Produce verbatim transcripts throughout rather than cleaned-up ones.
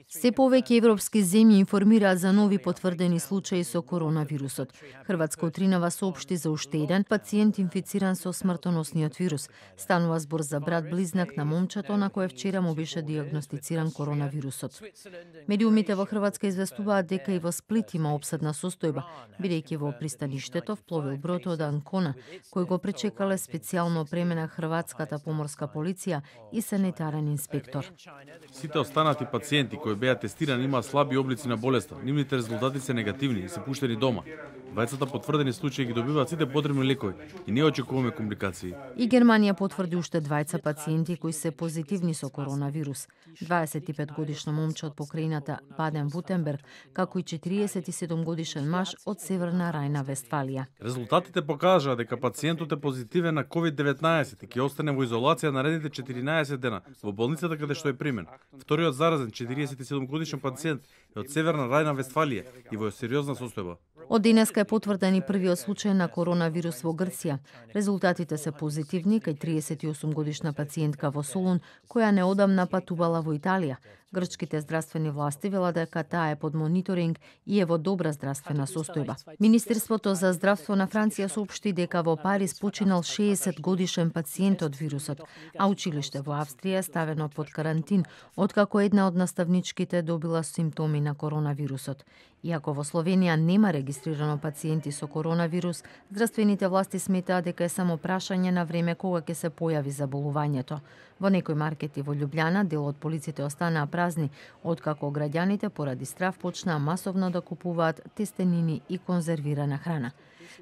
Се повеќе европски земји информираат за нови потврдени случаи со коронавирусот. Хрватска утринава соопшти за уште еден пациент инфициран со смртоносниот вирус. Станува збор за брат-близнак на момчето на кое вчера му беше диагностициран коронавирусот. Медиумите во Хрватска известуваат дека и во Сплит има обсадна состојба, бидејќи во пристаништето впловил брод од Анкона, кој го пречекале специјално опремена хрватската поморска полиција и санитарен инспектор. Сите останати пациенти кои беа тестирани имаа слаби облици на болеста. Нивните резултати се негативни и се пуштени дома. Двајцата потврдени случаи ги добиваат сите потребни лекови и не очекуваме компликации. И Германија потврди уште двајца пациенти кои се позитивни со коронавирус. дваесет и пет годишно момче од покрајината Баден-Вутенберг, како и четириесет и седум годишен маж од Северна Рајна-Вестфалија. Резултатите покажаа дека пациентот е позитивен на ковид деветнаесет и ќе остане во изолација наредните четиринаесет дена во болницата каде што е примен. Вториот заразен четириесет и седум годишен пациент е од Северна Рајна-Вестфалија и во сериозна состојба. Од денеска е потврден и првиот случај на коронавирус во Грција. Резултатите се позитивни кај триесет и осум годишна пациентка во Солун, која неодамна патувала во Италија. Грчките здравствени власти велат дека таа е под мониторинг и е во добра здравствена состојба. Министерството за здравство на Франција соопшти дека во Париз починал шеесет годишен пациент од вирусот, а училиште во Австрија е ставено под карантин, откако една од наставничките добила симптоми на коронавирусот. Иако во Словенија нема регистрирано пациенти со коронавирус, здравствените власти сметаат дека е само прашање на време кога ќе се појави заболувањето. Во некои маркети во Љубљана дел од полиците останаа празни, откако граѓаните поради страв почнаа масовно да купуваат тестенини и конзервирана храна.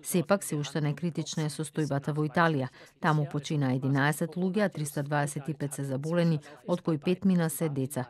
Сепак се уште некритична е состојбата во Италија. Таму почина единаесет луѓе, а триста дваесет и пет се заболени, од кои петмина се деца.